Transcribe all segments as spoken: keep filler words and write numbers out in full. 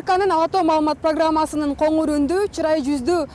ТКнын Ала тоо маалымат программасынын коңур үндүү, чырай жүздүү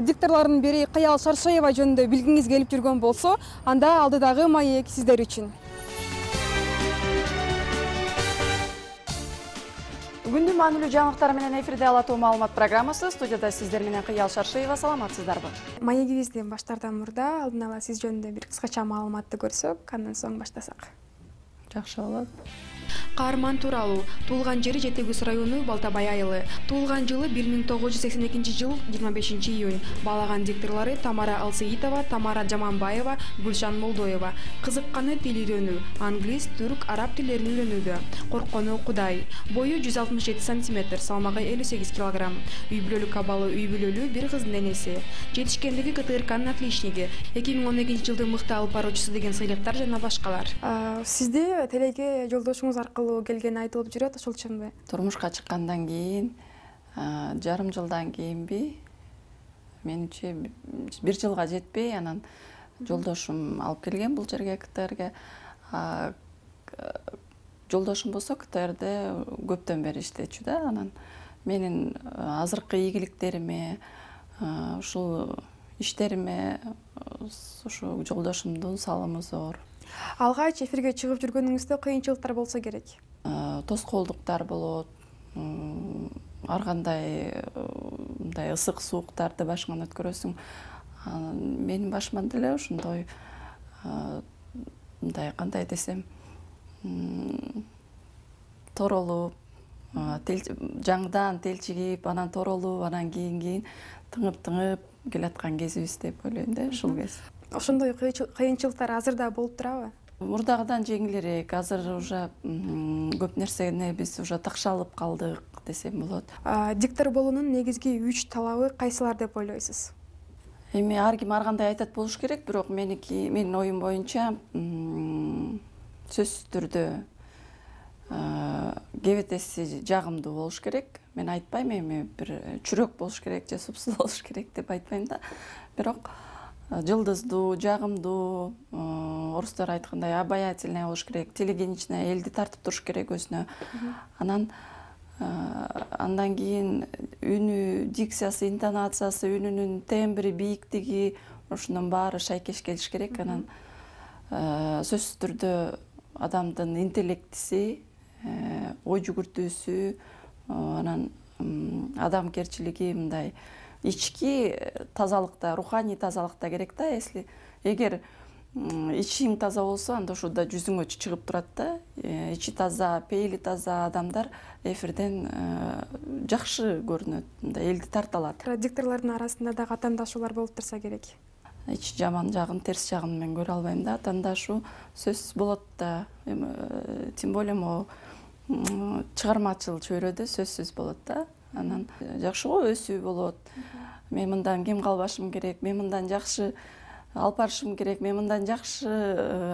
дикторлордун бири Кыял Шаршаева жөнүндө билгиңиз келип жүргөн болсо, анда алдыдагы маек сиздер үчүн. Бүгүндүн маанилүү жаңылыктар менен эфирде Ала тоо маалымат программасы. Студияда сиздер менен Кыял Шаршаева. Саламатсыздарбы? Маегибизден баштаардан мурда алдын ала сиз жөнүндө бир кыскача маалыматты көрсөк, андан соң баштасак. Жакшы болот. Каарман тууралуу. Туулган жери Жети Көз району Балтабай айылы. Туулган жылы бир миң тогуз жүз сексен экинчи жыл жыйырма бешинчи июнь. Баалаган дикторлору Тамара Алсеитова, Тамара Жаманбаева, Гүлшан Молдоева. Кызыкканы тил үйрөнүү, англис, түрк, араб тилдерин үйрөнүүдө. Корккону Кудай. Бою жүз алтымыш жети сантиметр, салмагы элүү сегиз килограмм. Үй бүлөлүк абалы үй бүлөлүү, бир кыздын энеси. Жетишкендиги КТРКнын отличниги. эки миң он экинчи жылдын мыкты алып баруучусу деген сыйлыктар жана башкалар. Сизде телеге жолдошуңуз аркылуу келгени айтылып жүрөт, ошол чынбы? Турмушка чыккандан кийин жарым жылдан кийинби, менимче бир жылга жетпей, анан жолдошум алып келген бул жерге, КТРге. Жолдошум болсо КТРде көптөн бери иштечү да, анан менин азыркы ийгиликтериме, ушул иштериме ушу жолдошумдун салымы зор. Алгач эфирге чыгып жүргөнүңүздө кыйынчылыктар болсо керек. Тоскоолдуктар болот, ар кандай мындай ысык сууктарды башыңан өткөрөсүң. Менин башыман деле ошондой мындай кандай десем, торолуп, жаңыдан телчигип, анан торолуп, анан кийин кийин тыңып-тыңып келаткан кезибиз деп ойлойм да, ушул кез. Ошондой кыйынчылыктар азыр да болуп турабы? Мурдагыдан жеңилирээк, азыр уже көп нерсени биз уже такшалып калдык десем болот. Диктор болуунун негизги үч талабы кайсылар деп ойлойсуз? Эми ар ким ар кандай айтат болуш керек, бирок меники, менин оюм боюнча, сөзсүз түрдө кебетеси жагымдуу болуш керек. Мен айтпайм эми бир чүрөк болуш керек же супсуз болуш керек деп айтпайм да. Бирок жылдыздуу, жагымдуу, орустар айткандай обаятельный болуш керек, телегеничный, элди тартып туруш керек өзүнө. Анан андан кийин үнү, дикциясы, интонациясы, үнүнүн тембри, бийиктиги, ошонун баары шайкеш келиш керек. Анан сөзсүз түрдө адамдын интеллектиси, ой жүгүртүүсү, анан адамгерчилиги, мындай ички тазалыкта, руханий тазалыкта керек да. Если эгер ичиң таза болсо, анда ошо да жүзүңө чыгып турат да. Ичи таза, пейили таза адамдар эфирден жакшы көрүнөт, мындай элди тарта алат. Дикторлордун арасында дагы атаандашуулар болуп турса керек. Ичи жаман жагын, терс жагын мен көрө албайм да. Атаандашуу сөзсүз болот да. Тем более могу чыгармачыл чөйрөдө сөзсүз болот да. Анан жакшы го өсүү болот. Мен мындан кем калбашым керек, мен мындан жакшы алып барышым керек, мен мындан жакшы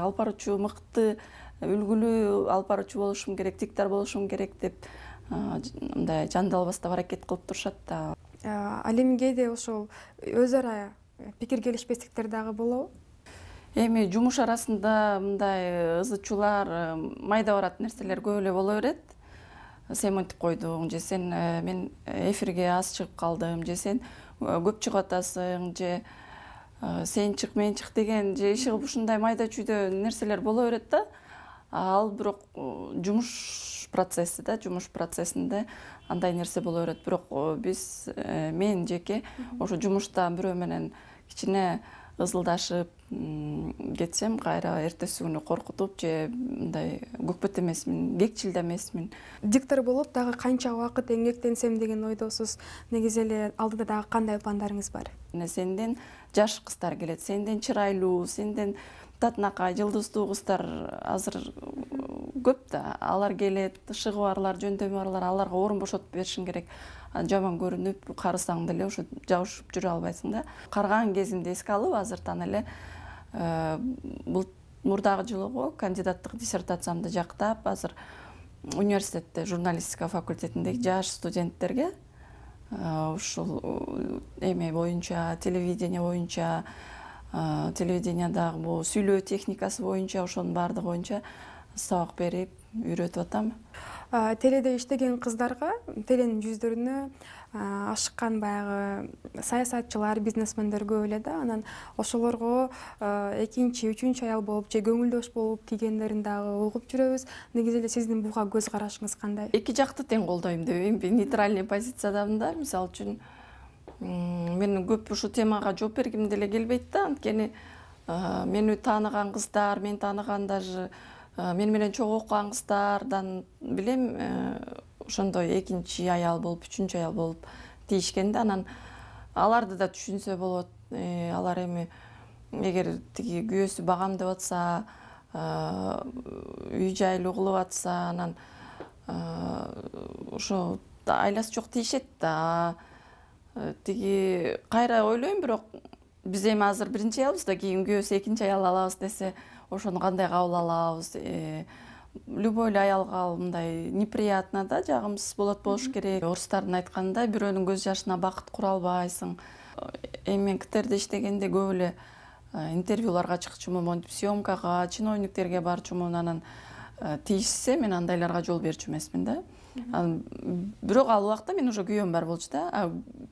алып баруучу, мыкты, үлгүлүү алып баруучу болушум керек, диктор болушум керек деп мындай жандалбастап аракет кылып турушат да. Ал эми кээде ошол өз ара пикир келишпестиктер дагы болобу? Эми жумуш арасында мындай ызы-чуулар, майда барат нерселер көп эле боло берет. Сен мынтип койдуң, же сен мен эфирге аз чыгып калдым, же сен көп чыгып атасың, же сен чык, мен чык деген, же иши кылып ушундай майда чүйдө нерселер боло берет да. Ал бирок жумуш процесси да, жумуш процессинде андай нерсе боло берет. Бирок биз, мен жеке ошо жумушта бирөө менен кичине ызылдашып кетсем, кайра эртеси күнү коркутуп же мындай көкпөт эмесмин, кекчил да эмесмин. Диктор болуп дагы канча убакыт эмгектенсем деген ойдосуз. Негизи эле алдыда дагы кандай пландарыңыз бар? Сенден жаш кыздар келет, сенден чырайлуу, сенден татынакай, жылдыздуу кыздар азыр көп да. Алар келет, ышыгы барлар, жөндөмү барлар, аларга орун бошотуп беришиң керек. Жаман көрүнүп, карысаң деле ошо жабышып жүрө албайсың да. Карган кезимди эске алып, азыртан эле бул мурдагы жылы кандидаттык диссертациямды жактап, азыр университетте журналистика факультетиндеги жаш студенттерге ушул эме боюнча, телевидение боюнча, телевидениядагы бул сүйлөө техникасы боюнча, ошонун баардыгы боюнча сабак берип үйрөтүп атам. Теледе иштеген кыздарга, теленин жүздөрүнө ашыккан баягы саясатчылар, бизнесмендер көп эле да. Анан ошолорго экинчи, үчүнчү аял болуп же көңүлдөш болуп тийгендерин дагы угуп жүрөбүз. Негизи эле сиздин буга көз карашыңыз кандай? Эки жакты тең колдойм дебейм, нейтральный позициядамын да. Мисалы үчүн мен көп ушу темага жооп бергим деле келбейт да. Анткени мени тааныган кыздар, мен тааныган даже мен менен чогуу окуган кыздардан билем, ошондой экинчи аял болуп, үчүнчү аял болуп тийишкен да. Анан аларды да түшүнсө болот. Алар эми эгер тиги күйөөсү багам деп атса, үй жайлуу кылып атса, анан ошо айласы жок тийишет да. Тиги кайра ойлойм, бирок биз эми азыр биринчи аялбыз да, кийин күйөөсү экинчи аял алабыз десе, ошону кандай кабыл алабыз? Любой эле аялга мындай неприятно да, жагымсыз болот болуш керек. Орустардын айтканындай, бирөөнүн көз жашына бакыт кура албайсың. Эми мен КТРде иштегенде көп эле интервьюларга чыкчумун, монтип съемкага, чиновниктерге барчумун. Анан тийишсе, мен андайларга жол берчү эмесмин да. Бирок ал убакта мен уже күйөөм бар болчу да.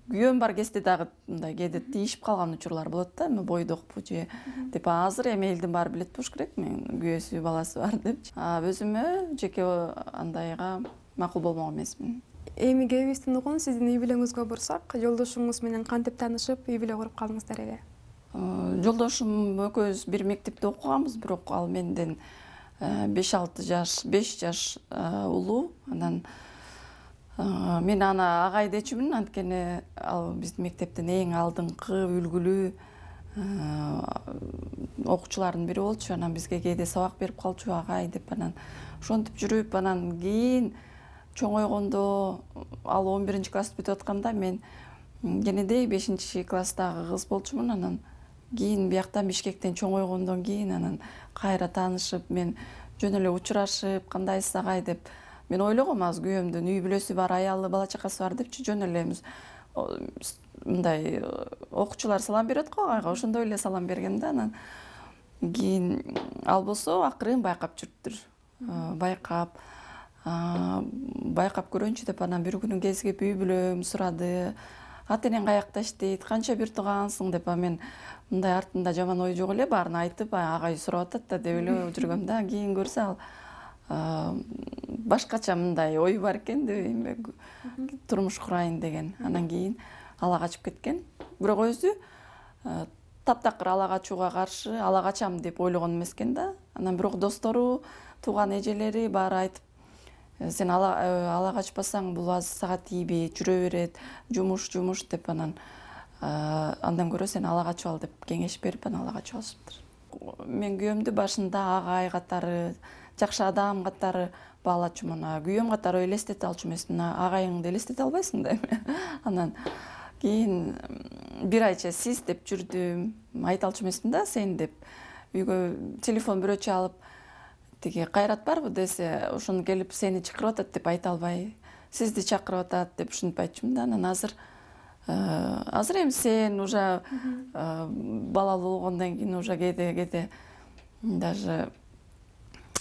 Күйөөм бар кезде дагы мындай кээде тийишип калган учурлар болот да, эми бойдокпу же деп. Азыр эми элдин баары билет болуш керек, мен күйөөсү, баласы бар депчи. Өзүмө жеке андайга макул болмок эмесмин. Эми кебибиздин угун сиздин үй бүлөңүзгө бурсак, жолдошуңуз менен кантип таанышып, үй бүлө куруп калдыңыздар эле? Жолдошум экөөбүз бир мектепте окуганбыз, бирок ал менден беш алты жаш, беш жаш улуу. Анан мен аны агай дечүмүн, анткени ал биздин мектептин эң алдыңкы үлгүлүү окуучулардын бири болчу. Анан бизге кээде сабак берип калчу агай деп. Анан ошентип жүрүп, анан кийин чоңойгондо, ал он биринчи классты бүтүп атканда, мен кенедей бешинчи класстагы кыз болчумун. Анан кийин бияктан Бишкектен чоңойгондон кийин анан кайра таанышып, мен жөн эле учурашып, кандайсыз агай деп. Мен ойлогом, азыр күйөөмдүн үй бүлөсү бар, аялы, бала чакасы бар депчи, жөн эле мындай окуучулар салам берет го агайга, ошондой эле салам берген да. Анан кийин ал болсо акырын байкап жүрүптүр. Байкап, байкап көрөнчү деп, анан бир күнү кезип үй бүлөм сурады. Ата энең каякта иштейт, канча бир туугансың деп. Мен мындай артында жаман ой жок эле, баарын айтып, агай сурап атат да деп эле жүргөм да. Кийин көрсө ал башкача мындай ой бар экен дебейм, турмуш курайын деген. Анан кийин ала качып кеткен. Бирок өзү таптакыр ала качууга каршы, ала качам деп ойлогон эмес экен да. Анан бирок достору, тууган эжелери баары айтып, сен ала качпасаң бул аз сага тийбейт, жүрө берет, жумуш жумуш деп. Анан андан көрө сен ала качып ал деп кеңеш берип, анан ала качып алышыптыр. Мен күйөөмдү башында агай катары, жакшы адам катары баалачумун. Күйөөм катары элестете алчу эмесмин. Агайыңды элестете албайсың да эми. Анан кийин бир айча сиз деп жүрдүм. Айта алчу эмесмин да, сен деп. Үйгө телефон бирөө чалып, тиги Кайрат барбы десе, ошону келип сени чакырып атат деп айта албай, сизди чакырып атат деп ушинтип айтчумун да. Анан азыр азыр эми сен уже балалуу болгондон кийин уже кээде кээде даже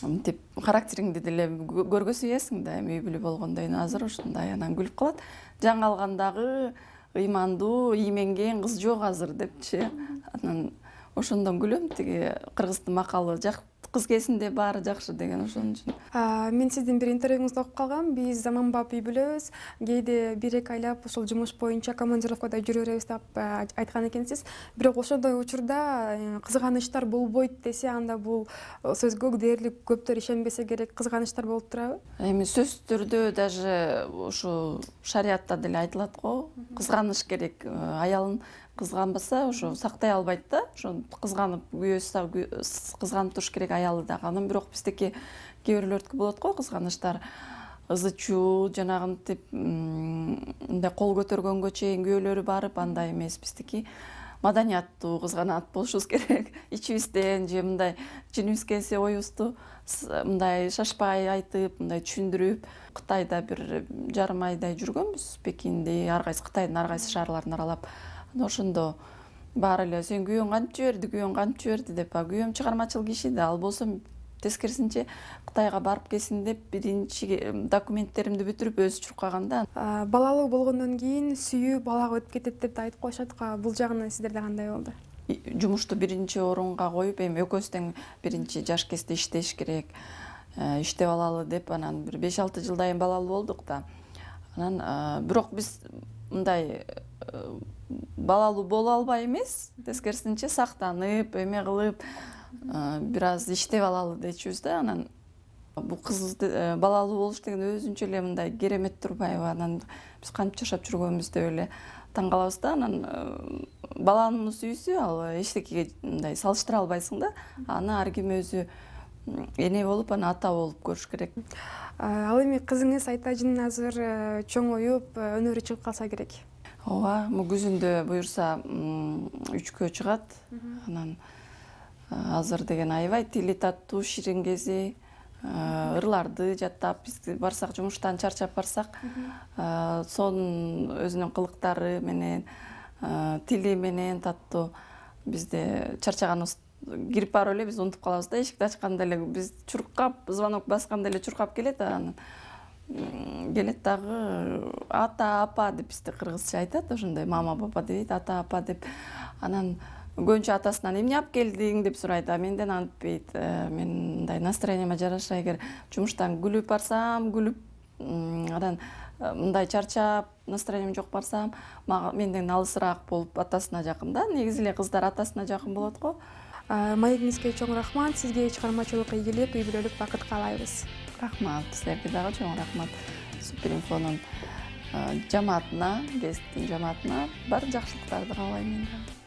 мынтип характериңди деле көргөзбөйсүң да, эми үй бүлө болгондон кийин. Азыр ушундай. Анан күлүп калат. Жаңалгандагы ыймандуу, ийменген кыз жок азыр депчи. Анан ошондон күлөм, тиги кыргыздын макалы жак кыз кезинде баары жакшы деген ошон үчүн. Мен сиздин бир интервьюңузду окуп калгам. Биз заманбап үй бүлөбүз, кээде бир эки айлап ушул жумуш боюнча командировкада жүрө беребиз деп айткан экенсиз. Бирок ошондой учурда кызганыштар болбойт десе, анда бул сөзгө дээрлик көптөр ишенбесе керек, кызганыштар болуп турабы? Эми сөзсүз түрдө даже ушу шариатта деле айтылат го, кызганыш керек. Аялын кызганбаса, ошо сактай албайт да. Ошо кызганып, күйөөсү кызганып туруш керек аялы дагы. Анан бирок биздики кээ бирлөрдүкү болот го кызганыштар. Ызы чуу, жанагынтип мындай кол көтөргөнгө чейин күйөөлөрү барып, андай эмес. Биздики маданияттуу кызганат болушубуз керек. Ичибизден же мындай жинибиз келсе оюбузду мындай шашпай айтып, мындай түшүндүрүп. Кытайда бир жарым айдай жүргөнбүз, Пекинде, ар кайсы Кытайдын ар кайсы шаарларын аралап. Ошондо баары эле сен күйөөң кантип жиберди, күйөөң кантип жиберди деп. Күйөөм чыгармачыл киши да, ал болсо тескерисинче Кытайга барып келсин деп биринчи документтеримди бүтүрүп өзү чуркаганда. Балалуу болгондон кийин сүйүү балага өтүп кетет деп да айтып коюшат. Бул жагынан сиздерде кандай болду? Жумушту биринчи орунга коюп, эми экөөбүз тең биринчи жаш кезде иштеш керек, иштеп алалы деп анан бир беш алты жылдан балалуу болдук да. Анан бирок биз мындай балалуу боло албай эмес, тескерисинче сактанып, эме кылып, бир аз иштеп алалы дечүбүз да. Анан бул кыз балалуу болуш деген өзүнчө эле мындай керемет турбайбы? Анан биз кантип жашап жүргөнбүз деп эле таң калабыз да. Анан баланын сүйүүсү ал эчтекеге мындай салыштыра албайсың да. Аны ар ким өзү эне болуп, аны ата болуп көрүш керек. Ал эми кызыңыз Айтажын азыр чоңоюп, өнөрү чыгып калса керек. Ооба, күзүндө буюрса үчкө чыгат. Анан азыр деген аябай тили таттуу, ширин кези, ырларды жаттап, биз барсак жумуштан чарчап барсак, сонун өзүнүн кылыктары менен, тили менен таттуу. Бизде чарчаганыбыз кирип барып эле биз унутуп калабыз да, эшикти ачканда эле биз чуркап, звонок басканда эле чуркап келет, анан келет дагы ата, апа деп бизде кыргызча айтат, ошондой мама, папа дебейт, ата, апа деп. Анан көбүнчө атасынан эмне алып келдиң деп сурайт, а менден антпейт. Мен мындай настроениема жараша эгер жумуштан күлүп барсам, күлүп, анан мындай чарчап, настроением жок барсам, менден алысыраак болуп атасына жакын да. Негизи эле кыздар атасына жакын болот го. Маегиңизге чоң рахмат. Сизге чыгармачылык ийгилик, үй бүлөлүк бакыт каалайбыз. Рахмат. Силерге дагы чоң рахмат. Суперинфонун жамаатына, гесттин жамаатына бар жакшылыктарды каалайм мен дагы.